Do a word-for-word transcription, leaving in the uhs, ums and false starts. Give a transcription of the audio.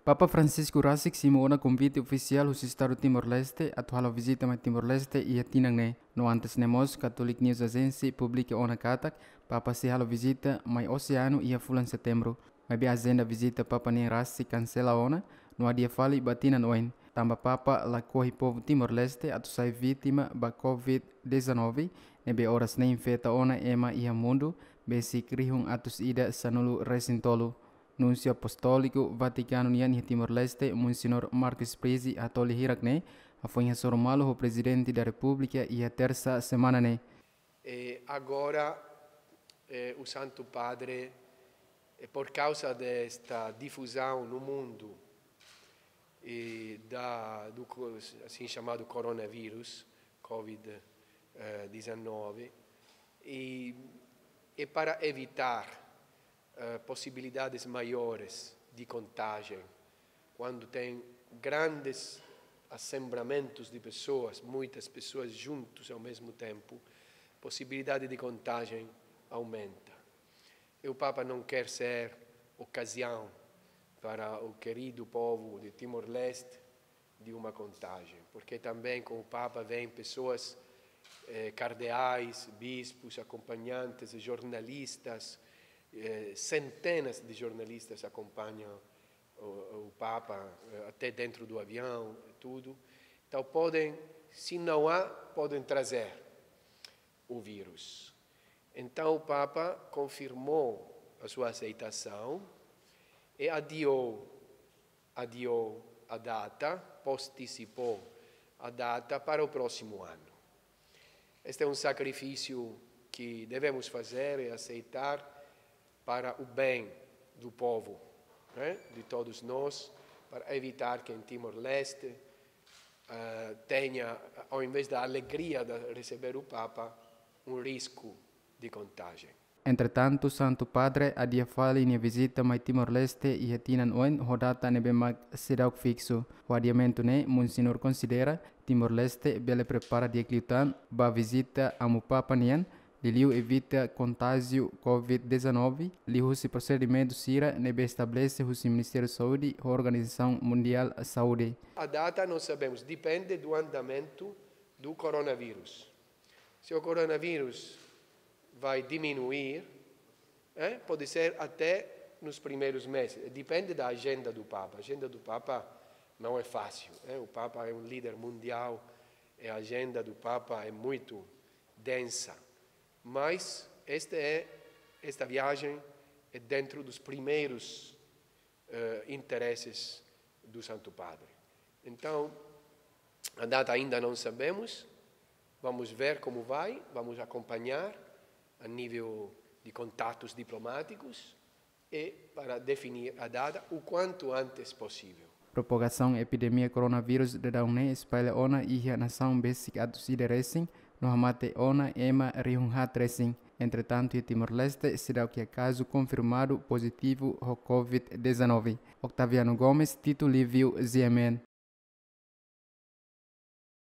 Papa Francisco rasik simu ona konvite ofisiál husi Estadu Timor-Leste atu halo vizita mai Timor-Leste iha tinan ne'e. No antes ne'e mós, Catholic News Agency publika ona katak Papa sei halo vizita mai Oseanu iha fulan Setembru. Maibé ajenda vizita Papa nian rasik kansela ona, no adia fali ba tinan oin. Tanba Papa lakohi povu Timor-Leste atu sai vítima ba covid dezanove, ne'ebé oras ne'e infeta ona ema iha mundu, besik rihun atus ida sanulu resin tolu. Núnsiu Apostóliku Vatikanu nian iha Timor-Leste, Monsenhor Marques Prizi, hato'o lia hirak ne'e, hafoin hasoru malu ho Prezidente da Repúblika iha Tersa semana ne'e. E agora, eh, o Santo Padre, eh, por causa desta difusão no mundo, e da, do co-, assim chamado coronavírus, covid dezanove, e, e para evitar, eh, possibilidades maiores de contagem, quando tem grandes assembramentos de pessoas, muitas pessoas juntos ao mesmo tempo, possibilidade de contagem aumenta. E o Papa não quer ser ocasião para o querido povo de Timor-Leste de uma contagem, porque também com o Papa vêm pessoas, eh, cardeais, bispos, acompanhantes, jornalistas, eh, centenas de jornalistas acompanham o, o Papa, eh, até dentro do avião, e tudo. Então podem, se não há, podem trazer o vírus. Então o Papa confirmou a sua aceitação e adiou, adiou a data, postecipou a data para o próximo ano. Este é um sacrifício que devemos fazer e aceitar para o bem do povo, né? De todos nós, para evitar que em Timor-Leste, eh, tenha, ao invés da alegria de receber o Papa, um risco de contagem. Entretantu, Santu Padre adia fali nia vizita mai Timor-Leste iha tinan oin ho data ne'ebé mak seidauk fiksu. Ho adiamentu ne'e, Monsenhor konsidera Timor-Leste bele prepara di'ak liután ba vizita Amu Papa nian, liuliu evita kontájiu covid dezanove, liuhusi prosedimentu sira ne'ebé estabelese husi Ministériu Saúde ho Organizasaun Mundiál Saúde. A data não sabemos, depende do andamento do coronavírus. Se o coronavírus vai diminuir, eh, pode ser até nos primeiros meses. Depende da agenda do Papa. A agenda do Papa não é fácil, eh. O Papa é um líder mundial e a agenda do Papa é muito densa. Mas este é, esta viagem é dentro dos primeiros, eh, interesses do Santo Padre. Então, a data ainda não sabemos, vamos ver como vai, vamos acompanhar a nível de contatos diplomáticos e para definir a data o quanto antes possível. Propagasaun epidemia coronavírus daudaun ne'e espalla ona iha nasaun besik atus ida resin, no hamate ona ema rihun haat resin. Entretantu, iha Timor-Leste seidauk iha kazu konfirmadu pozitivu ho covid dezanove. Octaviano Gomes, Tito Livio, G M N.